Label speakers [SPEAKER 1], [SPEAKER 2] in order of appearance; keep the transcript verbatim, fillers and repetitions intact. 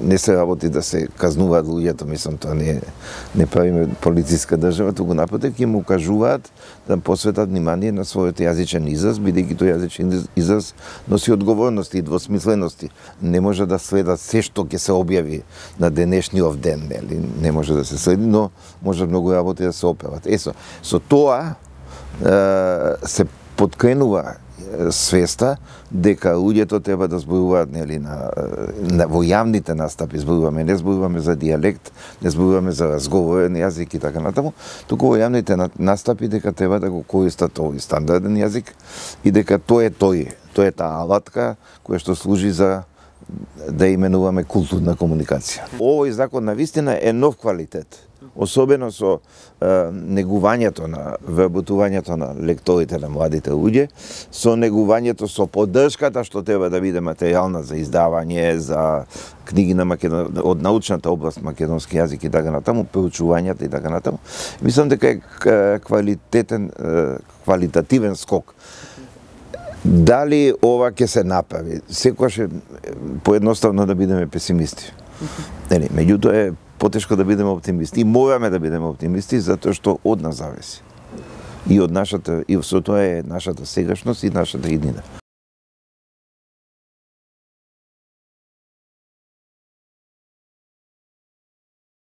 [SPEAKER 1] не се работи да се казнуваат луѓето, мислам, тоа не не правиме полициска држава, туку напротив ќе му кажуваат да посветат внимание на својот јазичен израз, бидејќи тој јазичен израз носи одговорности и двосмислености. Не може да следат се што ќе се објави на денешниот ден, нели? Не може да се следи, но може многу работи да се опеват. Есо, со тоа е, се подкренува свеста дека луѓето треба да зборуваат, нели, на, на во јавните настапи зборуваме, не зборуваме за дијалект, не зборуваме за разговорен јазик и така натаму, туку во јавните настапи дека треба да го користат овој стандарден јазик и дека тој е тој, тој е таа алатка која што служи за да именуваме културна комуникација. Овој закон навистина е нов квалитет, особено со е, негувањето на вработувањето на лекторите, на младите луѓе, со негувањето, со поддршката што треба да биде материјална за издавање, за книги на Македон... од научната област македонски јазик и така натаму, проучувањата и така натаму. Мислам дека е квалитетен, квалитативен скок. Дали ова ќе се направи? Секогаш е поедноставно да бидеме песимисти. Нели, меѓутоа е потешко да бидеме оптимисти. И мораме да бидеме оптимисти затоа што од нас зависи. И од нашата, и со тоа е нашата сегашност и нашата иднина.